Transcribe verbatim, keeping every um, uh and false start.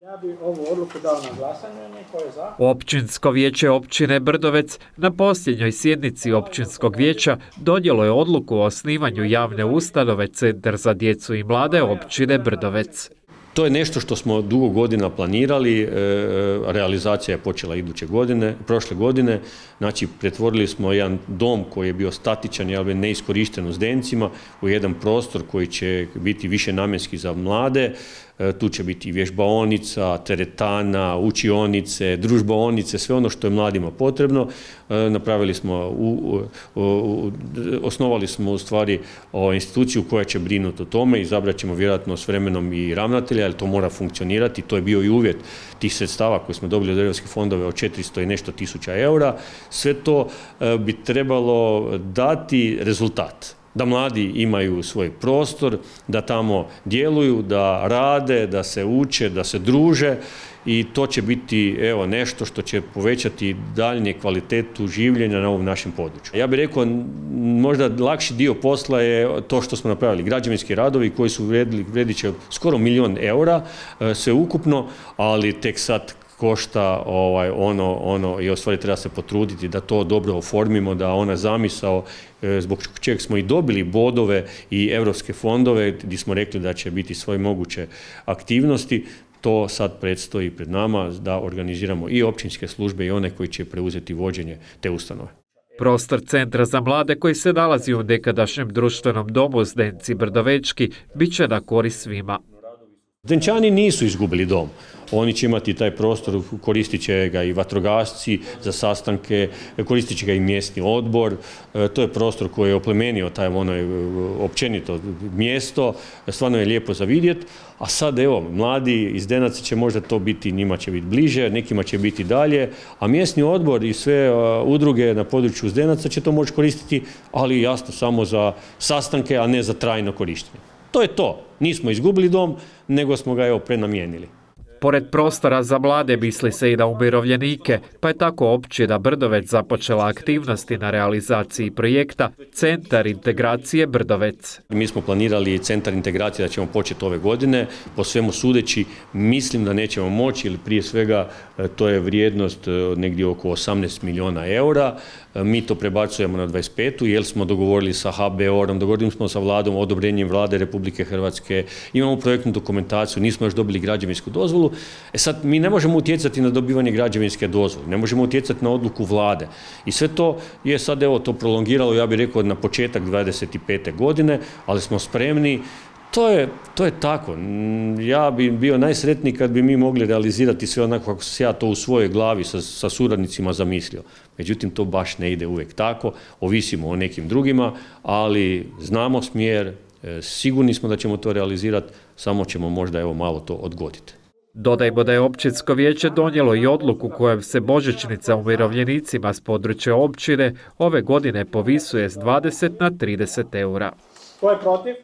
Ja bih ovu odluku dao na glasanje, niko je za. Općinsko vijeće općine Brdovec na posljednjoj sjednici općinskog vijeća donijelo je odluku o osnivanju javne ustanove Centar za djecu i mlade općine Brdovec. To je nešto što smo dugo godina planirali, realizacija je počela iduće godine, prošle godine, znači pretvorili smo jedan dom koji je bio statičan, ali neiskorišten u Zdencima, u jedan prostor koji će biti više namjenski za mlade. Tu će biti vježbaonica, teretana, učionice, družbaonice, sve ono što je mladima potrebno. Napravili smo, u, u, osnovali smo u stvari instituciju koja će brinuti o tome, izabrat ćemo vjerojatno s vremenom i ravnatelja, ali to mora funkcionirati, to je bio i uvjet tih sredstava koje smo dobili od europskih fondova od četiristo i nešto tisuća eura. Sve to bi trebalo dati rezultat. Da mladi imaju svoj prostor, da tamo djeluju, da rade, da se uče, da se druže i to će biti evo, nešto što će povećati daljnje kvalitetu življenja na ovom našem području. Ja bih rekao, možda lakši dio posla je to što smo napravili. Građevinski radovi koji su vrijedili, vrijedit će skoro milijon eura, sve ukupno, ali tek sad košta ovaj, ono, ono i u stvari treba se potruditi da to dobro oformimo, da ona zamisao zbog čega smo i dobili bodove i europske fondove gdje smo rekli da će biti svoje moguće aktivnosti, to sad predstoji pred nama da organiziramo i općinske službe i one koji će preuzeti vođenje te ustanove. Prostor Centra za mlade koji se nalazi u nekadašnjem društvenom domu Zdenci Brdovečki bit će na korist svima. Zdenčani nisu izgubili dom. Oni će imati taj prostor, koristit će ga i vatrogasci za sastanke, koristit će ga i mjesni odbor. To je prostor koji je oplemenio taj ono općenito mjesto, stvarno je lijepo za vidjeti. A sad evo, mladi iz Zdenaca će možda to biti, njima će biti bliže, nekima će biti dalje, a mjesni odbor i sve udruge na području Zdenaca će to moći koristiti, ali jasno samo za sastanke, a ne za trajno korištenje. To je to. Nismo izgubili dom, nego smo ga evo prenamijenili. Pored prostora za mlade misli se i na umirovljenike, pa je tako općina Brdovec započela aktivnosti na realizaciji projekta Centar integracije Brdovec. Mi smo planirali Centar integracije da ćemo početi ove godine, po svemu sudeći mislim da nećemo moći, ili prije svega to je vrijednost negdje oko osamnaest milijuna eura. Mi to prebacujemo na dvadeset petu jer smo dogovorili sa H B O R-om, dogovorili smo sa vladom, odobrenjem vlade Republike Hrvatske, imamo projektnu dokumentaciju, nismo još dobili građevinsku dozvolu. E sad, mi ne možemo utjecati na dobivanje građevinske dozvole, ne možemo utjecati na odluku vlade. I sve to je sad evo to prolongiralo, ja bih rekao, na početak dvadeset pete godine, ali smo spremni. To je, to je tako. Ja bi bio najsretniji kad bi mi mogli realizirati sve onako kako sam ja to u svojoj glavi sa, sa suradnicima zamislio. Međutim, to baš ne ide uvijek tako, ovisimo o nekim drugima, ali znamo smjer, sigurni smo da ćemo to realizirati, samo ćemo možda evo malo to odgoditi. Dodajmo da je općinsko vijeće donijelo i odluku kojom se božićnica umirovljenicima s područja općine ove godine povisuje s dvadeset na trideset eura. Tko je protiv?